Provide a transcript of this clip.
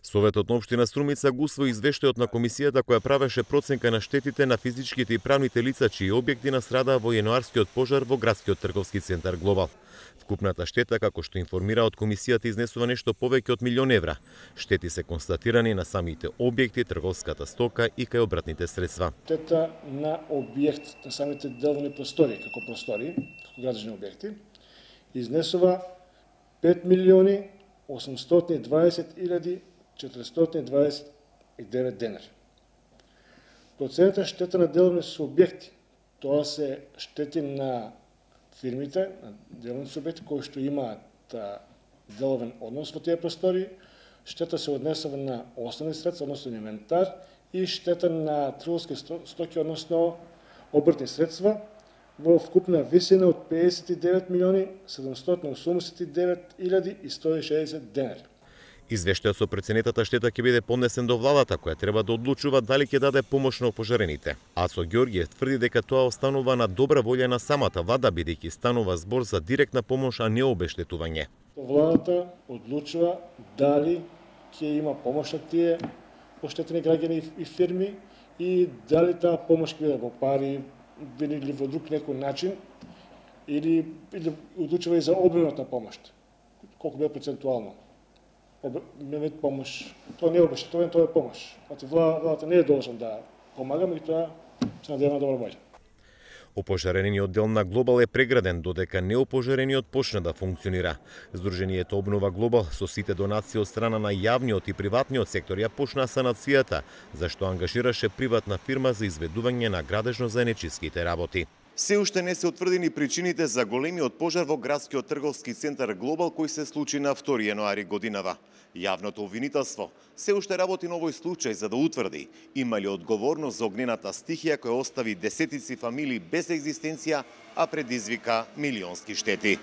Советот на општина Струмица го усвои извештајот на комисијата која правеше проценка на штетите на физичките и правните лица чии објекти настрадаа во јануарскиот пожар во градскиот трговски центар Глобал. Вкупната штета, како што информира од комисијата, изнесува нешто повеќе од €1.000.000 евра. Штети се констатирани на самите објекти, трговската стока и кај обратните средства. Штета на објект, на самите деловни простори, како градежни објекти, изнесува 5.820.429 денари. Процената штета на деловни субјекти, тоа се штети на фирмите, на деловни субјекти кои што имаат деловен однос во тие простори, штета се однесува на основни средства, односно инвентар, и штета на трговски стоки, односно обртни средства, во вкупна висина од 59.789.160 денари. Извештајот со преценетата штета ќе биде поднесен до владата, која треба да одлучува дали ќе даде помош на опожарените. Ацо Ѓорѓиев тврди дека тоа останува на добра волја на самата влада, бидејќи станува збор за директна помош, а не обештетување. Владата одлучува дали ќе има помош на тие оштетени граѓани и фирми и дали таа помош ќе биде во пари или во друг некој начин, или одлучува и за обемот на помош, колку биде процентуално. Вид помош, тоа не е обештетување, тоа е помош. Владата не е должна да помага, меѓутоа се надевам на добра волја. Опожарениот дел на Глобал е преграден, додека неопожарениот почна да функционира. Сдруженијето Обнова Глобал со сите донации од страна на јавниот и приватниот сектор ја почна санацијата, зашто ангажираше приватна фирма за изведување на градежно-заедничките работи. Се уште не се утврдени причините за големиот пожар во градскиот трговски центар Глобал кој се случи на 2 јануари годинава. Јавното обвинителство се уште работи на овој случај за да утврди има ли одговорност за огнената стихија која остави десетици фамилии без екзистенција, а предизвика милионски штети.